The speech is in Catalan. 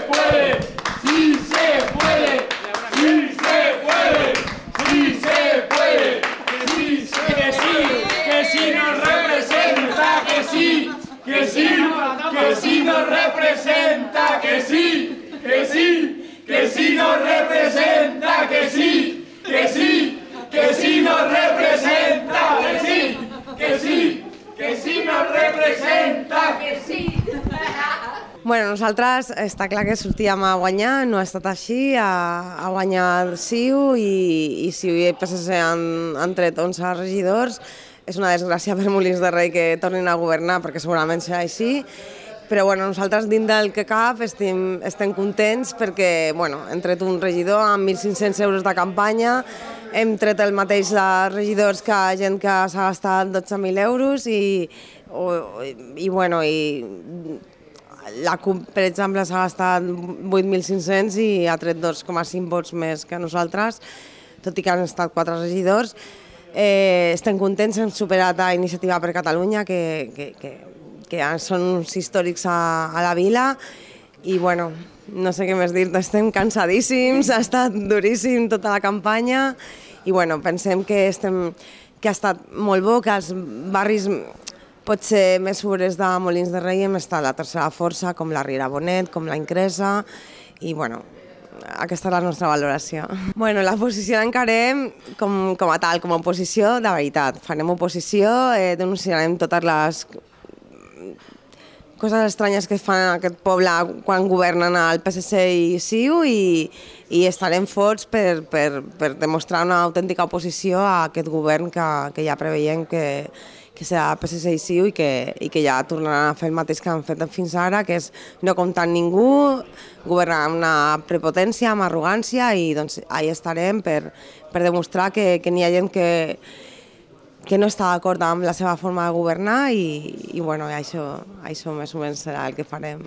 puede, sí se puede, sí se puede, sí se puede, que sí nos representa, que sí, que sí, que sí nos representa, que sí, que sí, que sí nos representa, que sí, que sí, que sí nos representa, que sí, que sí, que sí nos representa, que sí. Bueno, nosaltres està clar que sortíem a guanyar, no ha estat així, a guanyar CiU i CiU i PSC han tret 11 regidors. És una desgràcia per Molins de Rei que tornin a governar perquè segurament serà així, però bueno, nosaltres dins del que cap estem contents perquè hem tret un regidor amb 1.500 euros de campanya, hem tret el mateix de regidors que gent que s'ha gastat 12.000 euros i la CUP, per exemple, s'ha gastat 8.500 i ha tret 2,5 vots més que nosaltres, tot i que han estat 4 regidors. Estem contents, hem superat a Iniciativa per Catalunya, que són uns històrics a la vila, i bueno, no sé què més dir, estem cansadíssims, ha estat duríssim tota la campanya, i bueno, pensem que ha estat molt bo, que els barris potser més sobres de Molins de Rei hem estat la tercera força, com la Riera Bonet, com la Incresa, i bueno, aquesta és la nostra valoració. Bueno, la posició l'encarem com a tal, com a oposició de veritat. Farem oposició, denunciarem totes les coses estranyes que fan en aquest poble quan governen el PSC i CiU i estarem forts per demostrar una autèntica oposició a aquest govern que ja preveiem que serà PSC i CiU i que ja tornaran a fer el mateix que han fet fins ara, que és no comptar amb ningú, governar amb una prepotència, amb arrogància, i doncs ahí estarem per demostrar que n'hi ha gent que no està d'acord amb la seva forma de governar i bueno, això més o menys serà el que farem.